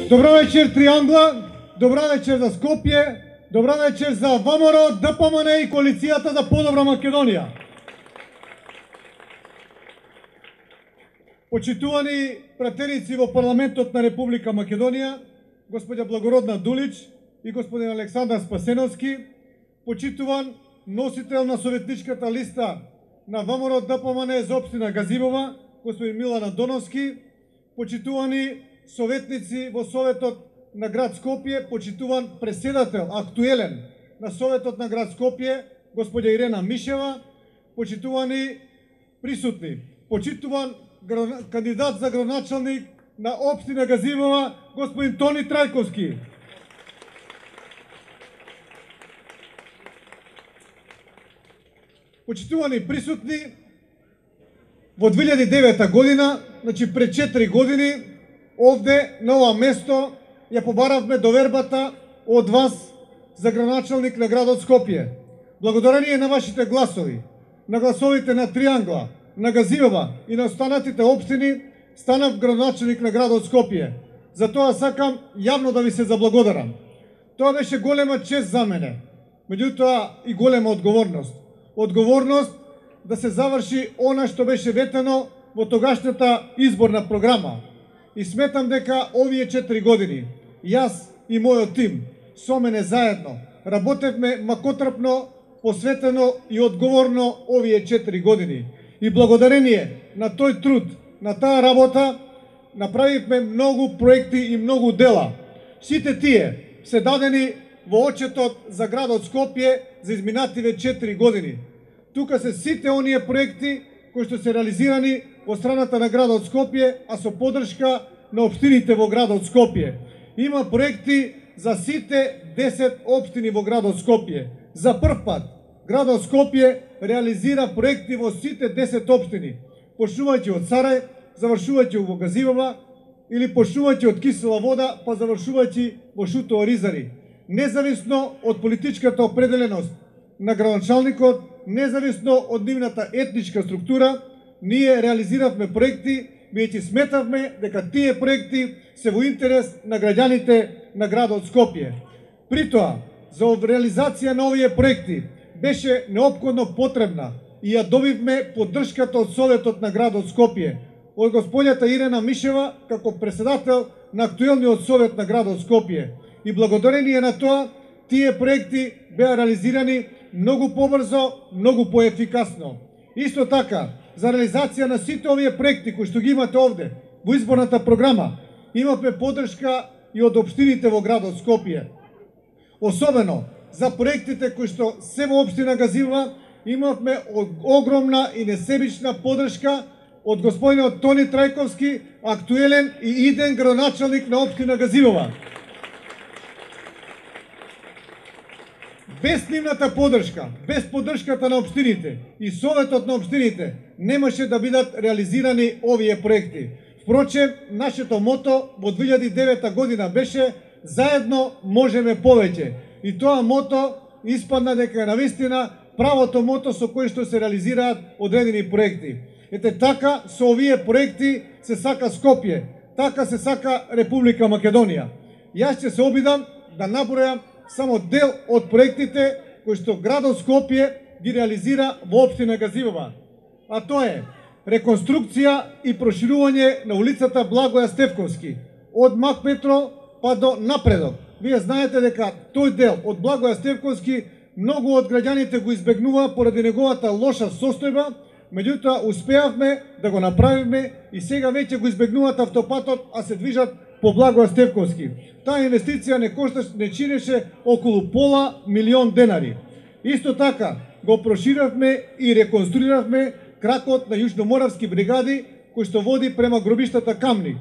Добра вечер Триангла, добра вечер за Скопје, добра вечер за ВМРО, ДПМН и коалицијата за подобра Македонија. Почитувани пратеници во парламентот на Република Македонија, господја Благородна Дулич и господин Александар Спасеновски, почитуван носител на советничката листа на ВМРО ДПМН за општина Газибова, господин Милан Андоновски, почитувани советници во Советот на град Скопје, почитуван преседател, актуелен на Советот на град Скопје, господја Ирена Мишева, почитувани присутни, почитуван кандидат за градоначалник на општина Газибова, господин Тони Трајковски. Почитувани присутни, во 2009 година, значи пред 4 години, овде на ова место ја побаравме довербата од вас за градоначалник на градот Скопје. Благодарение на вашите гласови, на гласовите на Триангла, на Газибова и на останатите општини, станав градоначалник на градот Скопје. За тоа сакам јавно да ви се заблагодарам. Тоа беше голема чест за мене, меѓутоа и голема одговорност. Одговорност да се заврши она што беше ветено во тогашната изборна програма. И сметам дека овие 4 години, јас и мојот тим, со мене заедно, работевме макотрпно, посветено и одговорно овие 4 години. И благодарение на тој труд, на таа работа, направивме многу проекти и многу дела. Сите тие се дадени во отчетот за градот Скопје за изминативе 4 години. Тука се сите оние проекти кои што се реализирани во страната на градот Скопје, а со поддршка на општините во градот Скопје. Има проекти за сите 10 општини во градот Скопје. За прв пат градот Скопје реализира проекти во сите 10 општини, почнувајќи од Сарај, завршувајќи во Газибова, или почнувајќи од Кисела вода, па завршувајќи во Шутоа Ризари. Независно од политичката определеност на градоначалникот, независно од нивната етничка структура, ние реализиравме проекти, бидејќи сметавме дека тие проекти се во интерес на граѓаните на градот Скопје. При тоа, за реализација на овие проекти беше неопходно потребна и ја добивме поддршката од Советот на градот Скопје, од господјата Ирена Мишева како председател на актуелниот Совет на градот Скопје. И благодарение на тоа, тие проекти беа реализирани многу побрзо, многу поефикасно. Исто така, за реализација на сите овие проекти кои што ги имате овде во изборната програма, имавме поддршка и од општините во градот Скопје. Особено за проектите кои што се во општина Газибова, имавме огромна и несебична поддршка од господинот Тони Трајковски, актуелен и иден градоначалник на општина Газибова. Без нивната поддршка, без поддршката на општините и Советот на општините немаше да бидат реализирани овие проекти. Впрочем, нашето мото во 2009 година беше "Заедно можеме повеќе". И тоа мото испадна дека е навистина правото мото со кое што се реализираат одредени проекти. Ете така, со овие проекти се сака Скопје, така се сака Република Македонија. Јас ќе се обидам да набројам само дел од проектите кои што градот Скопје ги реализира во општина Газибова. А тоа е реконструкција и проширување на улицата Благоја Стефковски, од Макметро па до Напредок. Вие знаете дека тој дел од Благоја Стефковски многу од граѓаните го избегнува поради неговата лоша состојба, меѓутоа успеавме да го направиме и сега веќе го избегнуваат автопатот, а се движат по Благоја Стефковски. Таа инвестиција не чинеше околу $500,000 Исто така го проширавме и реконструиравме кракот на Јужноморавски бригади кој што води према гробиштата Камник.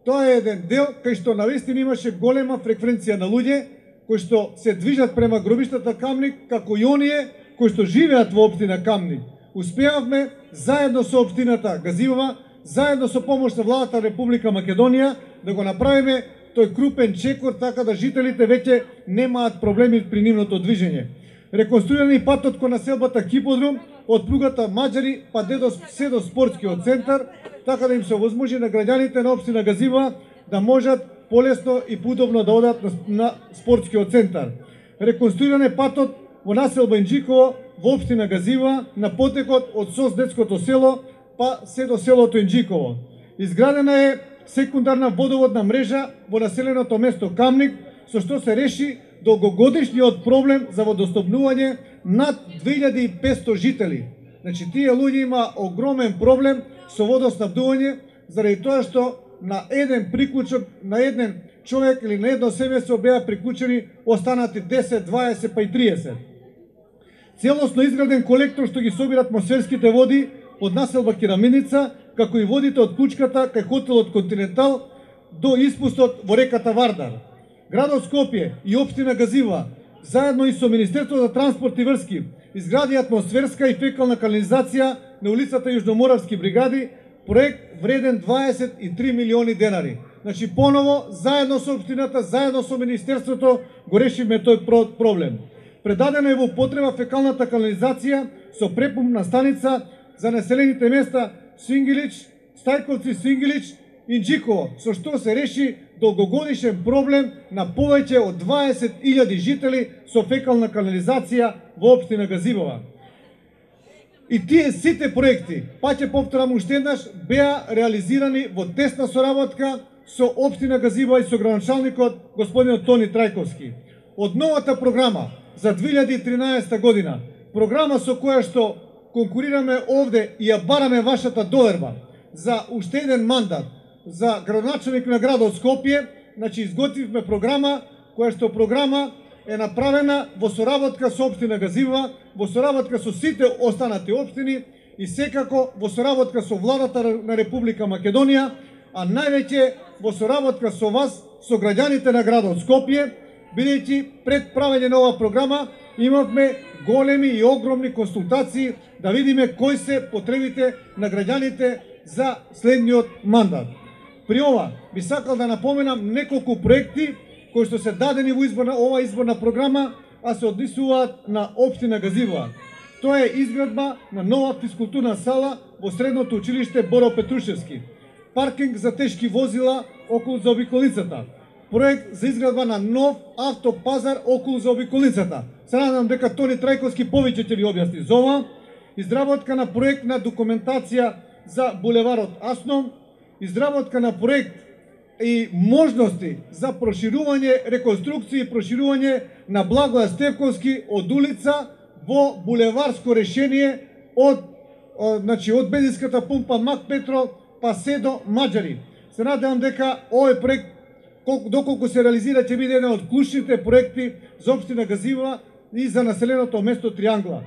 Тоа е еден дел кај што навистина имаше голема фреквенција на луѓе кои што се движат према гробиштата Камник, како и оние кои што живеат во општина Камник. Успеавме заедно со општината Газибова, заедно со помош на владата Република Македонија да го направиме тој крупен чекор така да жителите веќе немаат проблеми при нивното движење. Реконструирани патот кон населбата Киподрум од пругата Маџари па до спортскиот центар, така да им се овозможи на граѓаните на општина Газибова да можат полесно и поудобно да одат на спортскиот центар. Реконструиран е патот во населба Инџиково во општина Газива на потекот од СОС детското село па се до селото Инџиково. Изградена е секундарна водоводна мрежа во населеното место Камник, со што се реши долгогодишниот проблем за водоснабдување над 2500 жители. Значи, тие луѓе има огромен проблем со водоснабдување, заради тоа што на еден приклучок, на еден човек или на едно семејство беа приклучени останати 10, 20 па и 30. Целосно изграден колектор што ги собира атмосферските води од населба Кераминица, како и водите од Кучката кај хотелот Континентал до испустот во реката Вардар. Градот Скопје и општина Газива, заедно и со Министерството за транспорт и врски, изгради атмосферска и фекална канализација на улицата Јужноморавски бригади, проект вреден 23 милиони денари. Значи, поново, заедно со општината, заедно со Министерството, го решивме тој проблем. Предадена е во потреба фекалната канализација со препумпна станица за населените места Сингилич, Стајковци, Сингилич и Инџиково, со што се реши долгогодишен проблем на повеќе од 20.000 жители со фекална канализација во општина Газивова. И тие сите проекти, па ќе повторам уште еднаш, беа реализирани во тесна соработка со општина Газива и со градоначалникот господинот Тони Трајковски. Од новата програма за 2013 година, програма со која што конкурираме овде и ја бараме вашата доверба за уште еден мандат за градоначалник на градот Скопје, значи изготвивме програма која што програма е направена во соработка со општина Газива, во соработка со сите останати општини и секако во соработка со владата на Република Македонија, а највеќе во соработка со вас, со граѓаните на градот Скопје, бидејќи пред правење на оваа програма имавме големи и огромни консултации да видиме кои се потребите на граѓаните за следниот мандат. При ова би сакал да напоменам неколку проекти кои што се дадени во оваа изборна програма, а се однесуваат на општина Газива. Тоа е изградба на нова физкултурна сала во средното училиште Боро Петрушевски, паркинг за тешки возила околу заобиколницата, проект за изградба на нов автопазар околу заобиколницата. Се надам дека Тони Трајковски повеќе ќе ви објасни за ова. Изработка на проектна документација за булеварот Асном, изработка на проект и можности за проширување, реконструкција и проширување на Благоја Стевковски од улица во булеварско решение од бензинската пумпа Мак Петро па се до Маџари. Се надевам дека овој проект, доколку се реализира, ќе биде еден од клучните проекти за општина Газива и за населеното место Триангла.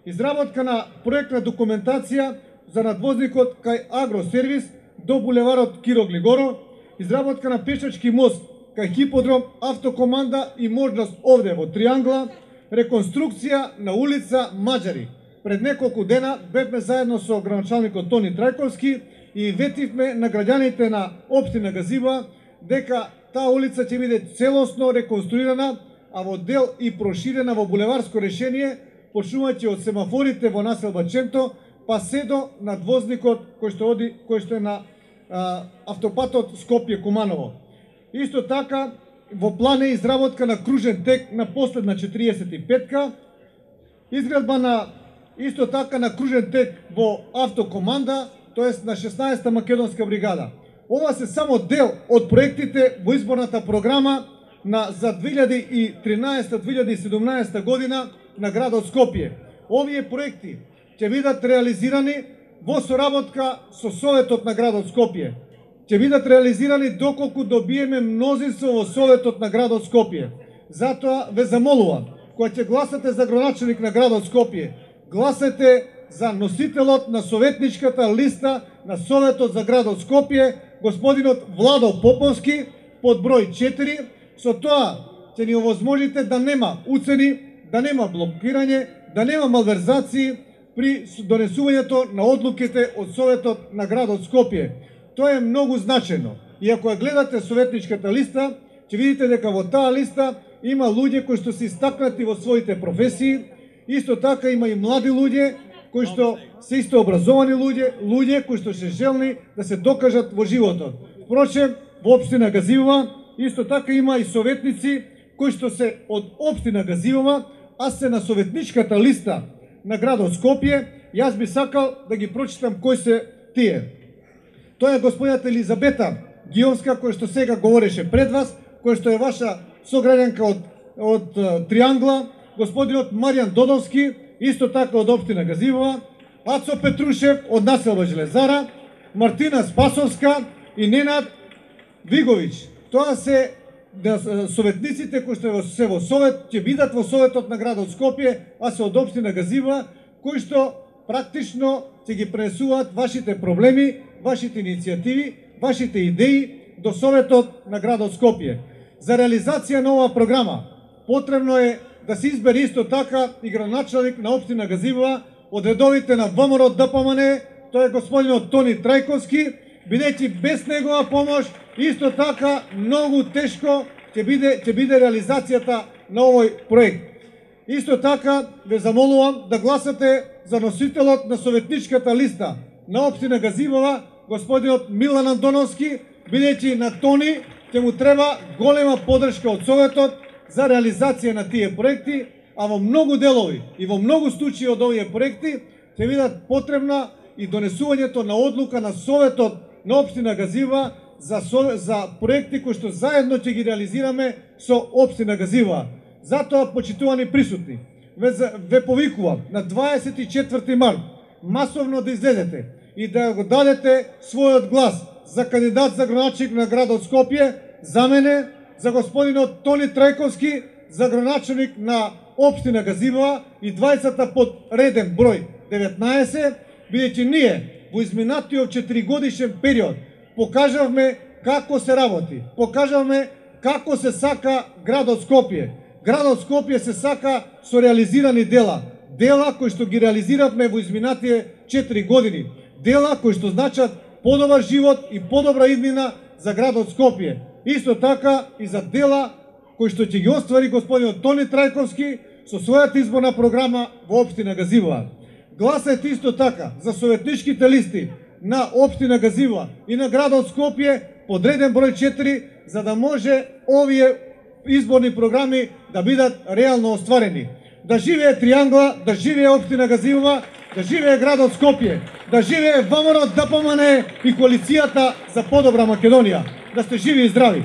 Изработка на проектна документација за надвозникот кај Агросервис до булеварот Киро Глигоров, изработка на пешачки мост кај Хиподром, автокоманда и можност овде во Триангла, реконструкција на улица Маџари. Пред неколку дена бевме заедно со градоначалникот Тони Трајковски и ветивме на граѓаните на општина Газива дека таа улица ќе биде целосно реконструирана, а во дел и проширена во булеварско решение, почнувајќи од семафорите во населба Ченто, па се до надвозникот кој што е на автопатот Скопје-Куманово. Исто така, во план е изработка на кружен тек на последна 45-ка, изградба на исто така на кружен тек во автокоманда, тоест на 16-та македонска бригада. Ова се само дел од проектите во изборната програма за 2013-2017 година на градот Скопје. Овие проекти ќе бидат реализирани во соработка со Советот на градот Скопје. Ќе бидат реализирани доколку добиеме мнозинство во Советот на градот Скопје. Затоа ве замолувам, кога ќе гласате за градоначалник на градот Скопје, гласете за носителот на советничката листа на Советот за градот Скопје, господинот Владо Поповски, под број 4. Со тоа ќе ни овозможите да нема уцени, да нема блокирање, да нема малверзации при донесувањето на одлуките од Советот на градот Скопје. Тоа е многу значајно. И ако ја гледате советничката листа, ќе видите дека во таа листа има луѓе кои што се истакнати во своите професии, исто така има и млади луѓе кои што се исто образовани луѓе кои што се желни да се докажат во животот. Впрочем, во општина Газива исто така има и советници кои што се од општина Газивова, а се на советничката листа на градот Скопје. Јас би сакал да ги прочитам кои се тие. Тоа е господината Елизабета Гиовска, која што сега говореше пред вас, која што е ваша сограѓанка од Триангла, господинот Маријан Додовски, исто така од општина Газивова, Ацо Петрушев од населба Железара, Мартина Спасовска и Ненад Виговиќ. Тоа се советниците кои што се во совет, ќе бидат во советот на градот Скопје, а се од општина Газивова, кои што практично ќе ги пренесуваат вашите проблеми, вашите иницијативи, вашите идеи до советот на градот Скопје. За реализација на оваа програма потребно е да се избере исто така и градоначалник на општина Газивова од редовите на ВМРО ДПМН, тоа е господинот Тони Трајковски, бидејќи без негова помош исто така многу тешко ќе биде реализацијата на овој проект. Исто така ве замолувам да гласате за носителот на советничката листа на општина Газивова, господинот Милан Андоновски, бидејќи на Тони ќе му треба голема поддршка од советот за реализација на тие проекти, а во многу делови и во многу случаи од овие проекти ќе бидат потребна и донесувањето на одлука на советот на општина Газивова за проекти кои што заедно ќе ги реализираме со општина Газивова. Затоа, почитувани присутни, ве повикувам на 24 март масовно да излезете и да го дадете својот глас за кандидат за градоначалник на градот Скопје, за мене, за господинот Тони Трајковски, за градоначалник на општина Газивова и 20-та под реден број 19, бидејќи ние во изминатиот 4-годишен период покажавме како се работи, покажавме како се сака градот Скопје. Градот Скопје се сака со реализирани дела, дела кои што ги реализиравме во изминатие 4 години, дела кои што значат подобар живот и подобра иднина за градот Скопје. Исто така и за дела кои што ќе ги оствари господинот Тони Трајковски со својата изборна програма во општина Газивова. Гласајте исто така за советничките листи на општина Газивова и на градот Скопје под реден број 4, за да може овие изборни програми да бидат реално остварени. Да живее Триангла, да живее општина Газивова, да живее градот Скопје, да живее ВМРО ДПМН и коалицијата за подобра Македонија. Да сте живи и здрави!